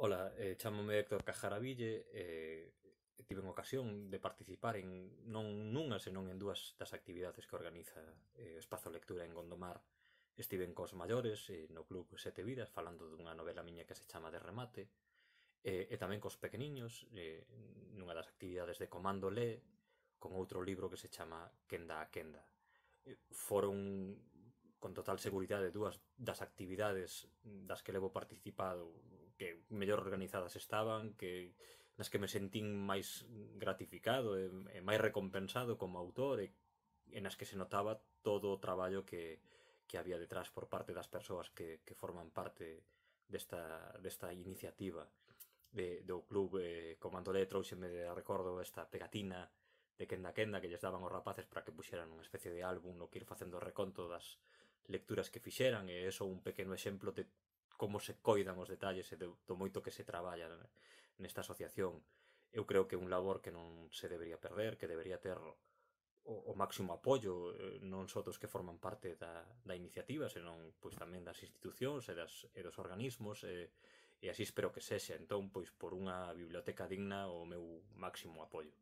Ola, chámome Héctor Cajaraville e tiven ocasión de participar non nunha, senón en dúas das actividades que organiza o Espazo Lectura en Gondomar. Estiven cos maiores no Club Sete Vidas falando dunha novela miña que se chama De Remate e tamén cos pequeniños nunha das actividades de Comando Lé con outro libro que se chama Quenda a Quenda. Foron con total seguridade dúas das actividades das que levo participado que mellor organizadas estaban, nas que me sentín máis gratificado e máis recompensado como autor e nas que se notaba todo o traballo que había detrás por parte das persoas que forman parte desta iniciativa do club. Comando Lé trouxeme de recordo esta pegatina de Quenda a Quenda que lles daban os rapaces para que puxeran unha especie de álbum no que ir facendo reconto das lecturas que fixeran, e iso un pequeno exemplo de como se coidan os detalles e do moito que se traballa nesta asociación. Eu creo que é un labor que non se debería perder, que debería ter o máximo apoio, non só dos que forman parte da iniciativa, senón pois tamén das institucións e dos organismos, e así espero que sexa. Entón, pois por unha biblioteca digna, o meu máximo apoio.